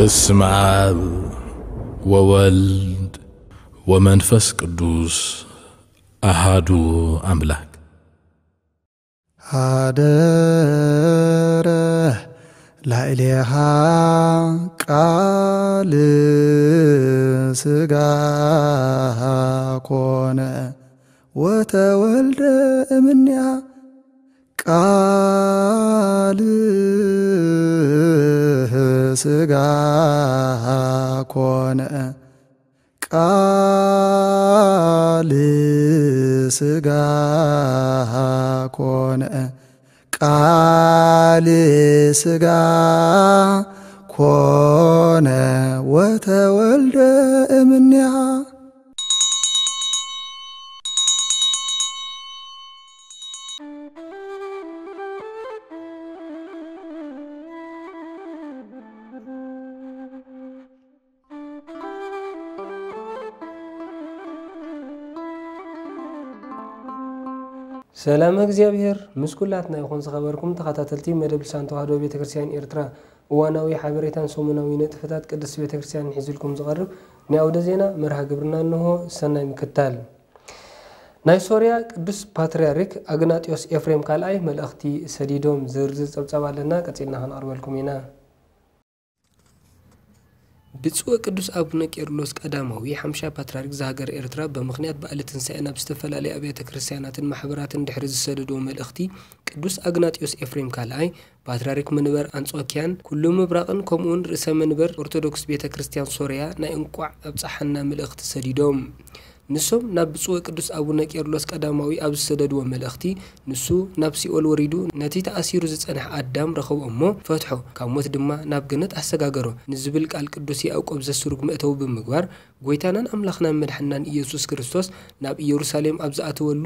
በስመ አብ ወወልድ ወመንፈስ ቅዱስ አሃዱ አምላክ። ሀደረ ላዕሌሃ ቃል ሥጋ ኮነ ወተወልደ እምኔሃ። ቃል ሥጋ ኮነ፣ ቃል ሥጋ ኮነ፣ ቃል ሥጋ ኮነ ወተወልደ እምኔሃ። ሰላም እግዚኣብሔር ምስ ኩላትና ይኹን። ዝኸበርኩም ተኸታተልቲ መደብ ልሳን ተዋህዶ ቤተክርስትያን ኤርትራ፣ እዋናዊ ሓበሬታን ሰሙናዊ ንጥፈታት ቅድስት ቤተክርስትያንን ሒዝልኩም ዝቐርብ ናይ ኣውደ ዜና መርሃ ግብርና እንሆ። ሰናይ ምክታል። ናይ ሶርያ ቅዱስ ፓትርያርክ ኣግናጢዮስ ኤፍሬም ካልኣይ መልእኽቲ ሰዲዶም። ዝርዝር ጸብጻብ ኣለና፣ ቀጺልና ክንቐርበልኩም ኢና። ብፁዕ ቅዱስ ኣቡነ ቄርሎስ ቀዳማዊ ሓምሻ ፓትርያርክ ዝሃገረ ኤርትራ ብምኽንያት በዓለ ትንሳኤ ናብ ዝተፈላለዩ ኣብያተ ክርስቲያናትን ማሕበራትን ድሕሪ ዝሰደድዎ መልእኽቲ፣ ቅዱስ ኣግናጢዮስ ኤፍሬም ካልኣይ ፓትርያርክ መንበር ኣንጾኪያን ኩሉ ምብራቕን ከምኡውን ርእሰ መንበር ኦርቶዶክስ ቤተ ክርስቲያን ሶርያ ናይ እንቋዕ ኣብጽሓና መልእኽቲ ሰዲዶም። ንሶም ናብ ብፁዕ ቅዱስ ኣቡነ ቄርሎስ ቀዳማዊ ኣብ ዝሰደድዎ መልእኽቲ፣ ንሱ ናብ ሲኦል ወሪዱ ነቲ ተኣሲሩ ዝጸንሐ ኣዳም ረኸቦ እሞ ፈትሖ፣ ካብ ሞት ድማ ናብ ገነት ኣሰጋገሮ ንዝብል ቃል ቅዱስ ያዕቆብ ዘስሩግ መእተዊ ብምግባር፣ ጐይታናን ኣምላኽናን መድሓንናን ኢየሱስ ክርስቶስ ናብ ኢየሩሳሌም ኣብ ዝኣተወሉ፣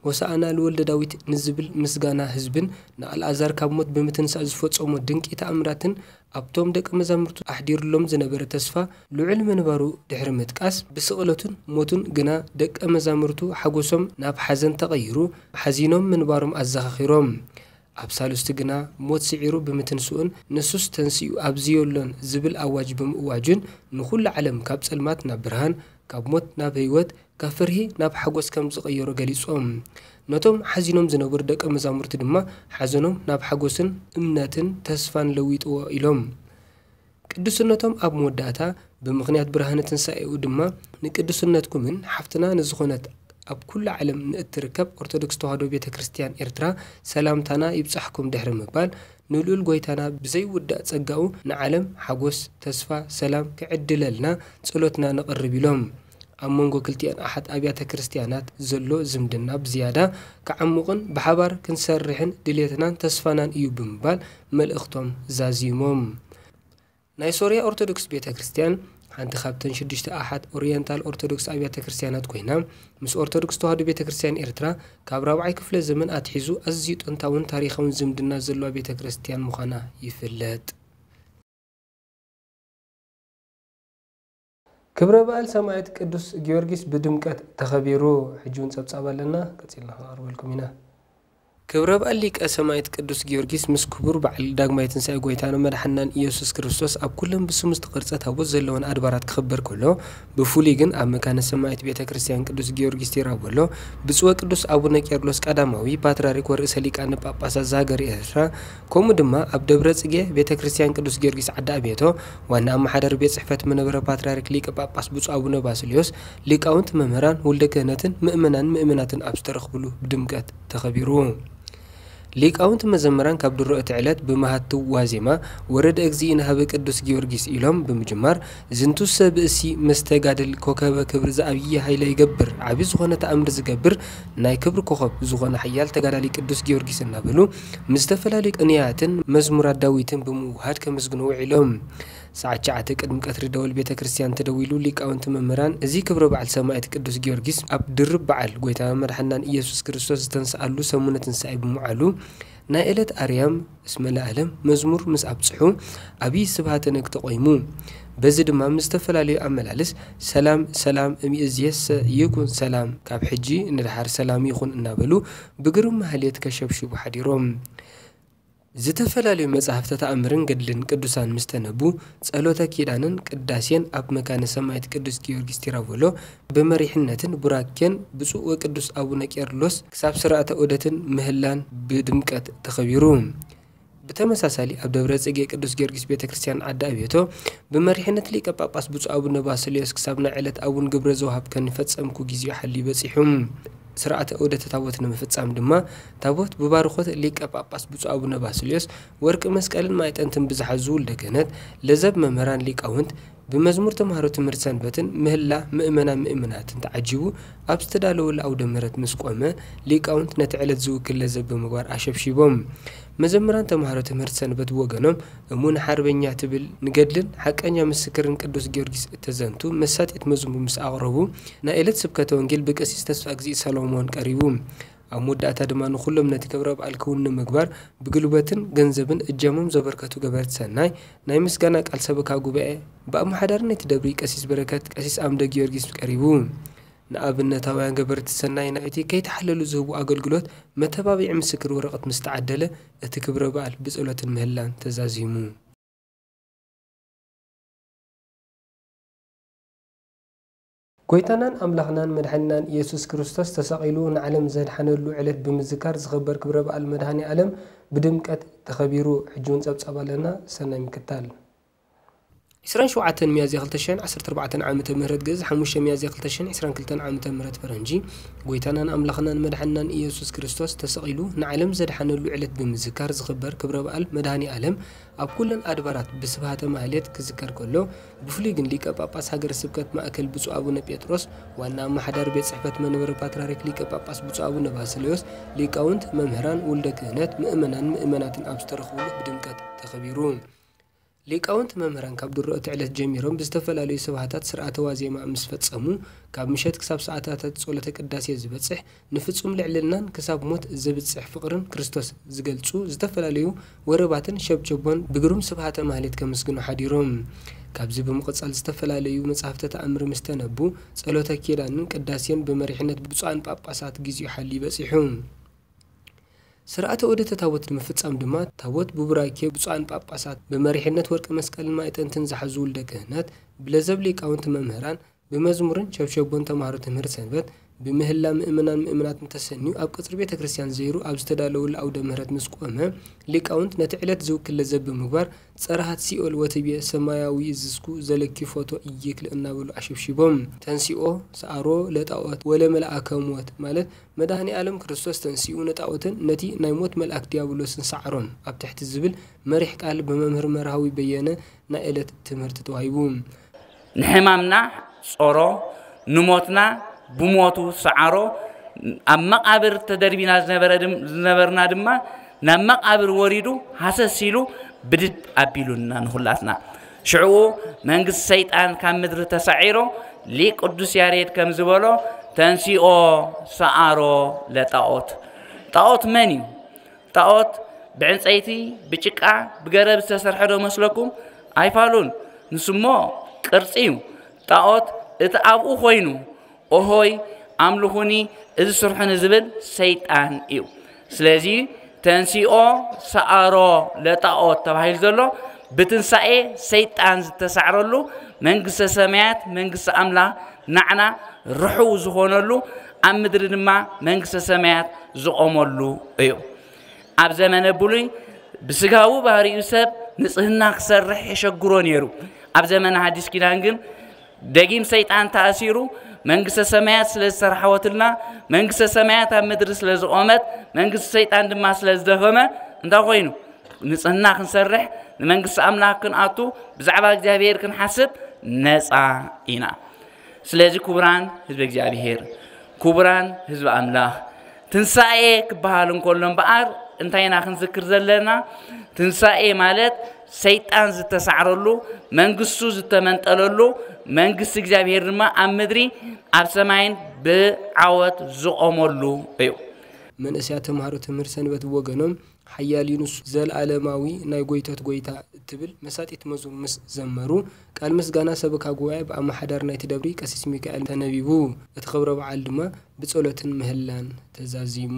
ሆሳዕና ልወልደ ዳዊት ንዝብል ምስጋና ህዝብን ንኣልኣዛር ካብ ሞት ብምትንሳእ ዝፈጸሞ ድንቂ ተኣምራትን ኣብቶም ደቂ መዛሙርቱ ኣሕዲሩሎም ዝነበረ ተስፋ ልዑል ምንባሩ ድሕሪ ምጥቃስ፣ ብስቕለቱን ሞቱን ግና ደቀ መዛሙርቱ ሓጎሶም ናብ ሓዘን ተቐይሩ፣ ሓዚኖም ምንባሮም ኣዘኻኺሮም። ኣብ ሳልስቲ ግና ሞት ስዒሩ ብምትንስኡን ንሱስ ተንሲኡ ኣብዚ የሎን ዝብል ኣዋጅ ብምእዋጁን ንኹሉ ዓለም ካብ ጸልማት ናብ ብርሃን፣ ካብ ሞት ናብ ህይወት፣ ካብ ፍርሂ ናብ ሓጎስ ከም ዝቐየሮ ገሊጾም። ነቶም ሓዚኖም ዝነበሩ ደቀ መዛሙርቲ ድማ ሓዘኖም ናብ ሓጎስን እምነትን ተስፋን ለዊጥዎ ኢሎም። ቅዱስነቶም ኣብ መወዳእታ፣ ብምኽንያት ብርሃነ ትንሳኤኡ ድማ ንቅዱስነትኩምን ሓፍትና ንዝኾነት ኣብ ኩሉ ዓለም ንእትርከብ ኦርቶዶክስ ተዋህዶ ቤተ ክርስቲያን ኤርትራ ሰላምታና ይብጻሕኩም ድሕሪ ምባል፣ ንልኡል ጐይታና ብዘይውዳእ ጸጋኡ ንዓለም ሓጎስ፣ ተስፋ፣ ሰላም ክዕድለልና ጸሎትና ነቕርብ ኢሎም። ኣብ መንጎ ክልቲኣን ኣሓት ኣብያተ ክርስቲያናት ዘሎ ዝምድና ብዝያዳ ክዓሙቕን ብሓባር ክንሰርሕን ድሌትናን ተስፋናን እዩ ብምባል መልእኽቶም ዛዚሞም። ናይ ሶርያ ኦርቶዶክስ ቤተ ክርስቲያን ሓንቲ ካብተን ሽዱሽተ ኣሓት ኦሪየንታል ኦርቶዶክስ ኣብያተ ክርስቲያናት ኮይና፣ ምስ ኦርቶዶክስ ተዋህዶ ቤተ ክርስቲያን ኤርትራ ካብ ራብዓይ ክፍለ ዘመን ኣትሒዙ ኣዝዩ ጥንታውን ታሪኻውን ዝምድና ዘለዋ ቤተ ክርስቲያን ምዃና ይፍለጥ። ክብረ በዓል ሰማዕት ቅዱስ ጊዮርጊስ ብድምቀት ተኸቢሩ። ሕጂ እውን ጸብጻብ ኣለና፣ ቀጺልና ክንቐርበልኩም ኢና። ክብረ በዓል ሊቀ ሰማዕት ቅዱስ ጊዮርጊስ ምስ ክቡር በዓል ዳግማይ ትንሳኤ ጐይታን መድሓንናን ኢየሱስ ክርስቶስ ኣብ ኩለን ብስሙ ዝተቐርጸ ታቦት ዘለወን ኣድባራት ክኽበር ከሎ፣ ብፍሉይ ግን ኣብ መካነ ሰማዕት ቤተ ክርስቲያን ቅዱስ ጊዮርጊስ ቴራቦሎ፣ ብፁዕ ወቅዱስ ኣቡነ ቄርሎስ ቀዳማዊ ፓትርያርክ ወርእሰ ሊቃነ ጳጳሳት ዘሃገረ ኤርትራ፣ ከምኡ ድማ ኣብ ደብረ ጽጌ ቤተ ክርስቲያን ቅዱስ ጊዮርጊስ ዓዲ ኣቤቶ ዋና ኣመሓዳሪ ቤት ጽሕፈት መንበረ ፓትርያርክ ሊቀ ጳጳስ ብፁዕ ኣቡነ ባስልዮስ፣ ሊቃውንት መምህራን፣ ውልደ ክህነትን ምእመናን ምእመናትን ኣብ ዝተረኽብሉ ብድምቀት ተኸቢሩ። ሊቃውንት መዘምራን ካብ ድሮ እቲ ዕለት ብመሃትው ዋዜማ ወረደ እግዚእነ ሀበ ቅዱስ ጊዮርጊስ ኢሎም ብምጅማር፣ ዝንቱሰ ብእሲ መስተጋድል ኮከበ ክብር ዘኣብይ ኃይለ ይገብር፣ ዓቢ ዝኾነ ተኣምር ዝገብር ናይ ክብሪ ኮኸብ ዝኾነ ሓያል ተጋዳሊ ቅዱስ ጊዮርጊስ እናበሉ ምስ ዝተፈላለዩ ቅንያትን መዝሙራት ዳዊትን ብምውሃድ ከመስግኑ ውዒሎም። ሰዓት ትሽዓተ ቅድሚ ቀትሪ ደወል ቤተ ክርስቲያን ተደዊሉ ሊቃውንቲ መምህራን እዚ ክብረ በዓል ሰማዕት ቅዱስ ጊዮርጊስ ኣብ ድርብ በዓል ጐይታና መድሓናን ኢየሱስ ክርስቶስ ዝተንስኣሉ ሰሙነ ትንሳኤ ብምውዓሉ ናይ ዕለት ኣርያም እስመ ለዓለም መዝሙር ምስ ኣብጽሑ፣ ዓብዪ ስብሃተ ነግ ተቖይሙ። በዚ ድማ ምስ ዝተፈላለዩ ኣመላልስ ሰላም ሰላም እምይእዜሰ ይኩን ሰላም፣ ካብ ሕጂ ንደሓር ሰላም ይኹን እናበሉ ብግርም ማህሌት ከሸብሽቡ ሓዲሮም። ዝተፈላለዩ መጻሕፍተ ተኣምርን ገድልን ቅዱሳን ምስ ተነቡ፣ ጸሎተ ኪዳንን ቅዳሴን ኣብ መካነ ሰማዕት ቅዱስ ጊዮርጊስ ቲራቮሎ ብመሪሕነትን ቡራኬን ብፁዕ ወቅዱስ ኣቡነ ቄርሎስ ክሳብ ስርዓተ ዑደትን ምህላን ብድምቀት ተኸቢሩ። ብተመሳሳሊ ኣብ ደብረ ጽጌ ቅዱስ ጊዮርጊስ ቤተ ክርስቲያን ዓዲ ኣቤቶ ብመሪሕነት ሊቀ ጳጳስ ብፁዕ ኣቡነ ባስልዮስ ክሳብ ናይ ዕለት ኣቡን ግብረ ዘውሃብ ከንፈጸምኩ ጊዜኡ ሓልዩ በጺሑ። ስርዓተ ዑደተ ታቦት ንምፍጻም ድማ ታቦት ብባርኾት ሊቀ ጳጳስ ብፁዕ ኣቡነ ባስልዮስ ወርቂ መስቀልን ማዕጠንትን ብዝሓዙ ውልደ ክህነት፣ ለዘብ መምህራን ሊቃውንት፣ ብመዝሙር ተምሃሮ ትምህርቲ ሰንበትን ምህላ ምእመናን ምእምናትን ተዓጂቡ ኣብ ዝተዳለወሉ ኣውደ ምህረት ምስ ቆመ፣ ሊቃውንት ነቲ ዕለት ዝውክል ለዘብ ብምግባር ኣሸብሺቦም። መዘምራን ተምሃሮ ትምህርቲ ሰንበት ብወገኖም፣ እሙን ሓርበኛ ትብል ንገድልን ሓቀኛ ምስክርን ቅዱስ ጊዮርጊስ እተዘንቱ መሳጢት መዝሙር ምስ ኣቕረቡ፣ ናይ ዕለት ስብከተ ወንጌል ብቀሲስ ተስፋ እግዚእ ሰሎሞን ቀሪቡ። ኣብ መወዳእታ ድማ ንኹሎም ነቲ ክብረ በዓል ክውን ንምግባር ብጉልበትን ገንዘብን እጃሞም ዘበርከቱ ገበርቲ ሰናይ ናይ ምስጋና ቃል ሰበካ ጉባኤ ብኣመሓዳሪ ናይቲ ደብሪ ቀሲስ በረከት ቀሲስ ኣምደ ጊዮርጊስ ቀሪቡ። ንኣብነታውያን ገበርቲ ሰናይ ናይቲ ከይተሓለሉ ዝህቡ ኣገልግሎት መተባብዒ ምስክር ወረቐት ምስ ተዓደለ፣ እቲ ክብረ በዓል ብጸሎትን ምህላን ተዛዚሙ። ጎይታናን ኣምላኽናን መድሓኒናን ኢየሱስ ክርስቶስ ተሰቒሉ ንዓለም ዘድሓነሉ ዕለት ብምዝካር ዝኽበር ክብረ በዓል መድሃኔ ዓለም ብድምቀት ተኸቢሩ። ሕጂ እውን ጸብጻብ ኣለና፣ ሰናይ ምክታል። ዕስራን ሸውዓተን ሚያዝያ ክልተ ሽሕን ዓሰርተ ኣርባዕተን ዓመተ ምህረት ግእዝ፣ ሓሙሽተ ሚያዝያ ክልተ ሽሕን ዕስራን ክልተን ዓመተ ምህረት ፈረንጂ፣ ጎይታናን ኣምላኽናን መድሓኒናን ኢየሱስ ክርስቶስ ተሰቒሉ ንዓለም ዘድሓነሉ ዕለት ብምዝካር ዝኽበር ክብረ በዓል መድሃኔ ዓለም ኣብ ኩለን ኣድባራት ብስብሃተ ማህሌት ክዝከር ከሎ፣ ብፍሉይ ግን ሊቀ ጳጳስ ሃገረ ስብከት ማእከል ብፁዕ ኣቡነ ጴጥሮስ፣ ዋና ኣመሓዳሪ ቤት ጽሕፈት መንበረ ፓትርያርክ ሊቀ ጳጳስ ብፁዕ ኣቡነ ባስልዮስ፣ ሊቃውንት፣ መምህራን፣ ውልደ ክህነት፣ ምእመናን ምእመናትን ኣብ ዝተረኽብሉ ብድምቀት ተኸቢሩ። ሊቃውንት መምህራን ካብ ድሮ እቲ ዕለት ጀሚሮም ብዝተፈላለዩ ስብሃታት ስርዓተ ዋዜማ ምስ ፈጸሙ፣ ካብ ምሸት ክሳብ ሰዓታታት ጸሎተ ቅዳሴ ዝበጽሕ፣ ንፍጹም ልዕልናን ክሳብ ሞት ዘብጽሕ ፍቕርን ክርስቶስ ዝገልጹ ዝተፈላለዩ ወረባትን ሸብቸቦን ብግሩም ስብሃተ ማህሌት ከመስግኑ ሓዲሮም። ካብዚ ብምቕጻል ዝተፈላለዩ መጻሕፍተ ተኣምር ምስ ተነቡ፣ ጸሎተ ኪዳንን ቅዳሴን ብመሪሕነት ብፁዓን ጳጳሳት ግዚኡ ሓልዩ በጺሑ። ስርዓተ ዑደተ ታቦት ንምፍጻም ድማ፣ ታቦት ብቡራኬ ብፁዓን ጳጳሳት፣ ብመሪሕነት ወርቂ መስቀልን ማዕጠንትን ዝሓዙ ውልደ ክህነት፣ ብለዘብ ሊቃውንቲ መምህራን፣ ብመዝሙርን ሸብሸቦን ተምሃሮ ትምህርቲ ሰንበት፣ ብምህላ ምእመናን ምእመናትን ተሰንዩ ኣብ ቅጽሪ ቤተ ክርስቲያን ዘይሩ ኣብ ዝተዳለወሉ ኣውደ ምህረት ምስ ቆመ፣ ሊቃውንት ነቲ ዕለት ዝውክል ለዘብ ብምግባር፣ ጸረሃት ሲኦል ወትቤ ሰማያዊ ዝስኩ ዘለኪ ፎቶ ኢይክል እናበሉ ኣሸብሺቦም። ተንሲኦ ሰዓሮ ለጣዖት ወለመልኣከ ሞት ማለት መድኃኔ ዓለም ክርስቶስ ተንሲኡ ንጣኦትን ነቲ ናይ ሞት መልኣክ ዲያብሎስን ሰዓሮም ኣብ ትሕቲ ዝብል መሪሕ ቃል ብመምህር መርሃዊ በየነ ናይ ዕለት ትምህርቲ ተዋሂቡ። ንሕማምና ጾሮ፣ ንሞትና ብሞቱ ሰዓሮ፣ ኣብ መቓብር ተደርቢና ዝነበረ ድም-፣ ዝነበርና ድማ ናብ መቓብር ወሪዱ ሃሰስ ኢሉ ብድድ ኣቢሉና ንኹላትና። ሽዕኡ መንግስቲ ሰይጣን ካብ ምድሪ ተሳዒሩ፣ ሊቅ ቅዱስ ያሬድ ከም ዝበሎ፣ ተንሲኦ ሰዓሮ ለጣኦት። ጣኦት መን እዩ? ጣኦት ብዕንጸይቲ፣ ብጭቃ፣ ብገረብ ዝተሰርሐ ዶ መስለኩም? ኣይፋሉን። ንሱሞ ቅርጺ እዩ። ጣኦት እቲ ኣብኡ ኮይኑ፣ ኦሆይ ኣምልኹኒ፣ እዚ ስርሑኒ ዝብል ሰይጣን እዩ። ስለዚ ተንሲኦ ሰዓሮ ለጣኦት ተባሂሉ ዘሎ ብትንሳኤ ሰይጣን ዝተሳዕረሉ፣ መንግስተ ሰማያት መንግስቲ ኣምላኽ ናዕና ርሑው ዝኾነሉ፣ ኣብ ምድሪ ድማ መንግስተ ሰማያት ዝቖመሉ እዩ። ኣብ ዘመነ ብሉይ ብስጋዊ ባህሪኡ ሰብ ንጽህና ክሰርሕ የሸግሮ ነይሩ። ኣብ ዘመነ ሓዲስ ኪዳን ግን ደጊም ሰይጣን ተኣሲሩ፣ መንግስተ ሰማያት ስለ ዝተራሕወትልና፣ መንግስተ ሰማያት ኣብ ምድሪ ስለ ዝቖመት፣ መንግስቲ ሰይጣን ድማ ስለ ዝደኸመ፣ እንታይ ኮይኑ? ንጽህና ክንሰርሕ፣ ንመንግስቲ ኣምላኽ ክንኣቱ፣ ብዛዕባ እግዚኣብሔር ክንሓስብ ነጻ ኢና። ስለዚ ክቡራን ህዝቢ እግዚኣብሔር፣ ክቡራን ህዝቢ ኣምላኽ፣ ትንሳኤ ክበሃል እንከሎ እምበኣር እንታይ ኢና ክንዝክር ዘለና? ትንሳኤ ማለት ሰይጣን ዝተሳዕረሉ፣ መንግስቱ ዝተመንጠለሉ፣ መንግስቲ እግዚኣብሔር ድማ ኣብ ምድሪ ኣብ ሰማይን ብዓወት ዝቖመሉ እዩ። መንእሰያት ተምሃሮ ትምህርቲ ሰንበት ብወገኖም፣ ሓያል እዩ ንሱ፣ ዘለኣለማዊ ናይ ጐይቶት ጐይታ እትብል መሳጢት መዝሙር ምስ ዘመሩ፣ ቃል ምስጋና ሰበካ ጉባኤ ብኣመሓዳሪ ናይቲ ደብሪ ቀሲስ ሚካኤል ተነቢቡ። እቲ ክብረ በዓል ድማ ብጸሎትን ምህላን ተዛዚሙ።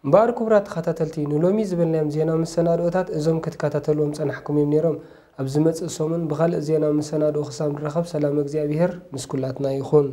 እምበኣር ክቡራት ተኸታተልቲ፣ ንሎሚ ዝበልናዮም ዜና መሰናድኦታት እዞም ክትከታተልዎም ጸናሕኩም እዮም ነይሮም። ኣብ ዝመጽእ ሰሙን ብኻልእ ዜና መሰናድኦ ክሳብ ንራኸብ፣ ሰላም እግዚኣብሔር ምስ ኩላትና ይኹን።